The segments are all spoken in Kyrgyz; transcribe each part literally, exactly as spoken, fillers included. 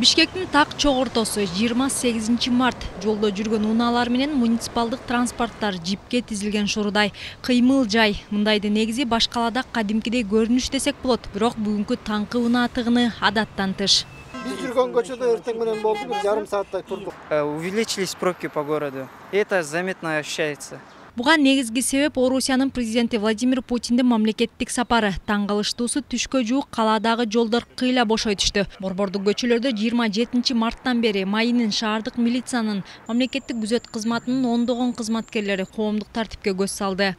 Бишкектин так чогортосу жыйырма сегизинчи март жолдо жүргөн унаалар менен муниципалдык транспорттар жипке тизилген шурудай кыймыл жай. Мындайды негизи баш калаада кадимкидей көрүнүш десек болот, бирок бүгүнкү таңкы унаа тыгыны адаттан тыш. Биз жүргөн көчөдө эртең менен болду, бир жарым сааттай турдук. Увеличились пробки по городу. Это заметно ощущается. Буга негизги себеп Орусиянын президенти Владимир Путиндин мамлекеттик сапары. Таң калыштуусу түшкө жуук калаадагы жолдор кыйла бошой түштү. Борбордук көчөлөрдө жыйырма жетинчи марттан бери майынын шаардык милициянын, мамлекеттик күзөт кызматынын ондогон кызматкерлери коомдук тартипке көз салды.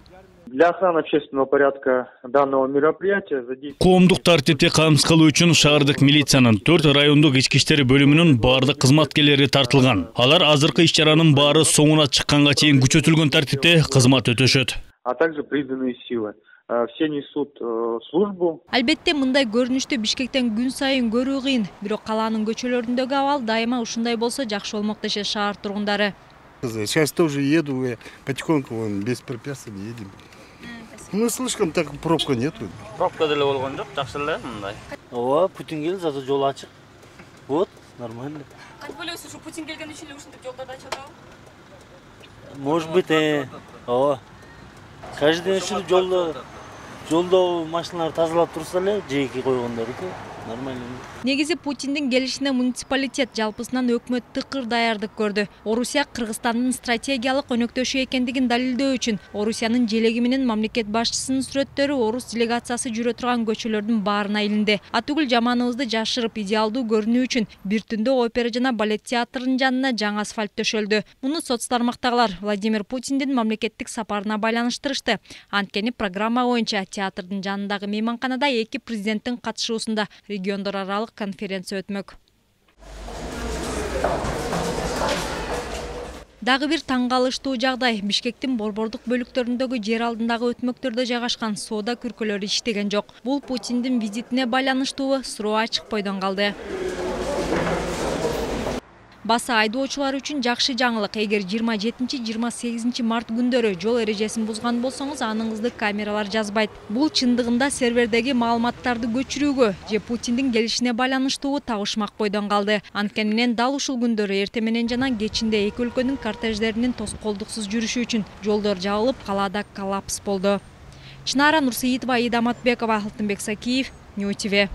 Для охраны общественного порядка данного мероприятия задействованы. Коомдук тартипти камсыз кылуу үчүн шаардык милициянын төрт райондук ички иштер бөлүмүнүн баардык кызматкерлери тартылган. Алар азыркы иш-чаранын баары соңуна чыкканга чейин күчөтүлгөн тартипте кызмат өтөшөт. А также призванные силы. Все несут службу. Албетте мындай көрүнүштү Бишкектен күн сайын көрүү кыйын, бирок калаанын көчөлөрүндөгү абал дайыма ушундай болсо жакшы болмок дешет шаар тургундары. Сейчас тоже еду, потихоньку без препятствий едем. Ну, слишком так пробка нету. Пробка деле болгон жок, жакшы эле мындай. Ооба, Путин келди, зато жол ачык. Вот, нормально. Кантип ойлойсуз, ушу Путин келген үчүн эле ушинтип жолдорду ачатабы? Может быть, э, ооба. Каждый день ушинтип жолдо жолдо машиналарды тазалап турса эле, жеки койгондорду. Нормально. Негизи Путиндин келишине муниципалитет жалпысынан өкмөт тыкыр даярдык көрдү. Орусия Кыргызстандын стратегиялык өнөктөшү экендигин далилдөө үчүн Орусиянын желеги менен мамлекет башчысынын сүрөттөрү орус делегациясы жүрө турган көчөлөрдүн баарына илинди. Атүгүл жаманыбызды жашырып идеалдуу көрүнүү үчүн бир түндө опера жана балет театрынын жанына жаңы асфальт төшөлдү. Муну соц тармактагылар Владимир Путиндин мамлекеттик сапарына байланыштырышты. Анткени программа боюнча театрдын жанындагы мейманканада эки президенттин катышуусунда региондор аралык конференция өтмөк. Дагы бир таң калыштуу жагдай. Бишкектин борбордук бөлүктөрүндөгү жер алдындагы өтмөктөрдө жайгашкан соода күркөлөрү иштеген жок. Бул Путиндин визитине байланыштуу суроо ачык бойдон калды. Баса айдоочулар үчүн жакшы жаңылык. Эгер жыйырма жетинчи жыйырма сегизинчи март күндөрү жол эрежесин бузган болсоңуз, аныңызды камералар жазбайт. Бул чындыгында сервердеги маалыматтарды көчүрүүгө же Путиндин келишине байланыштуу табышмак бойдон калды. Анткени менен дал ушул күндөрү эрте менен жана кечинде эки өлкөнүн кортеждеринин тоскоолдуксуз жүрүшү үчүн жолдор жабылып, калаада коллапс болду. Чынара Нурсейитова, Ида Матбекова, Алтынбек Сакиев, Нью ти ви.